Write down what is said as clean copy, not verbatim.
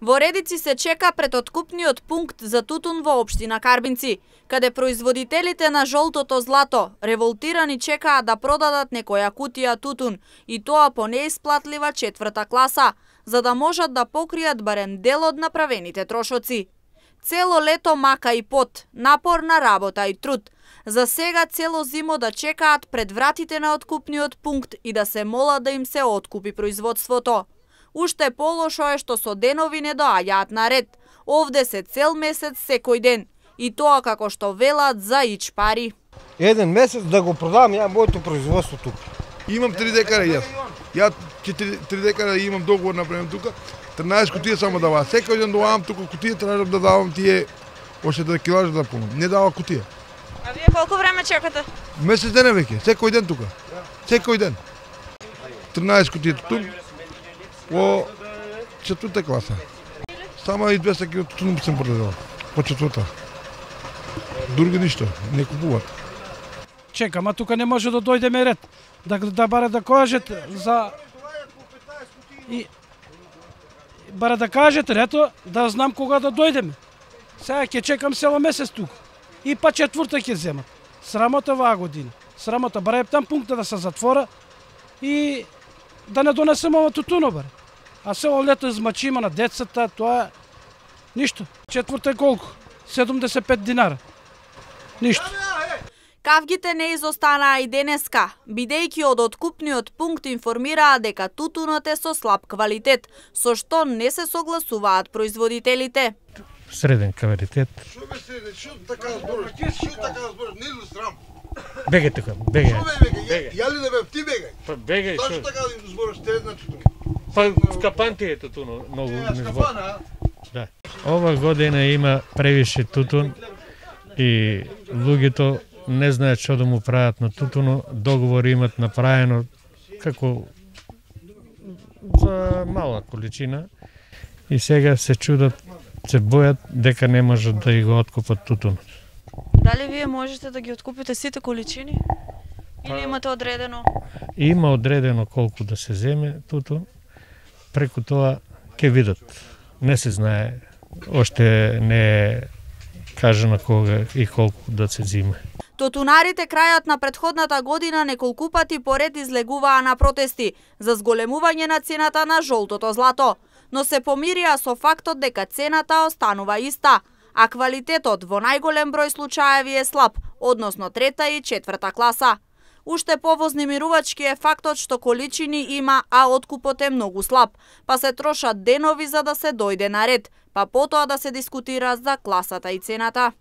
Во редици се чека пред откупниот пункт за тутун во општина Карбинци, каде производителите на жолтото злато револтирани чекаат да продадат некоја кутија тутун, и тоа по неисплатлива 4-та класа, за да можат да покријат барем дел од направените трошоци. Цело лето мака и пот, напорна работа и труд. За сега цело зимо да чекаат пред вратите на откупниот пункт и да се молат да им се откупи производството. Уште полошо е што со денови не доаѓаат на ред. Овде се цел месец секој ден. И тоа како што велат за ич пари. Еден месец да го продам ја моето производство тука. Имам 3 декара јас. Ја 3 декара имам договор направен тука. 13 кутија само даваа. Секој ден доавам тука кутија, тражам да давам тие още да килажа да полнам. Не дава кутија. А вие колку време чекате? Месец ден веќе, секој ден тука. Секој ден. 13 кутија тутун во 4-та класа. Само и 200 кг тутун сум продадал. По 4-та. Други ништо, не купуваат. Чекам, а тука не може да дојдеме ред. Да баре да кажете за... И... Баре да кажете, ето, да знам кога да дојдеме. Сега ќе чекам цело месец тука. И па 4-та ќе земат. Срамота ваа година. Срамота, баре там пункта да се затвора и да не донесем ова тутуно, баре. А цело лето измачима на децата, тоа ништо. 4-та е колку? 75 динара. Ништо. Кавгите не изостанаа и денеска, бидејќи од откупниот пункт информираа дека тутунот е со слаб квалитет, со што не се согласуваат производителите. Среден квалитет. Што бе среден? Што така збориш? Што така збориш? Не ли срам? Бегај тука, бегај. Што бе бегај? Ја ли да бе ти бегај? Па бегај, Зашто така збориш средна тутун? Па капанти е тутуно, многу не збор. Капана? Да. Ова година има превише тутун и луѓето не знаат што да му прават на тутуно, договори имат направено како за мала количина и сега се чудат, се бојат дека не можат да го откупат тутунот. Дали вие можете да ги откупите сите количини? Или имате одредено? Има одредено колку да се земе тутун, преку тоа ќе видат. Не се знае, оште не е кажано кога и колку да се зима. Тутунарите крајот на претходната година неколку пати поред излегуваа на протести за зголемување на цената на жолтото злато, но се помирија со фактот дека цената останува иста, а квалитетот во најголем број случаеви е слаб, односно 3-та и 4-та класа. Уште повознемирувачки е фактот што количини има, а откупот е многу слаб, па се трошат денови за да се дојде на ред, па потоа да се дискутира за класата и цената.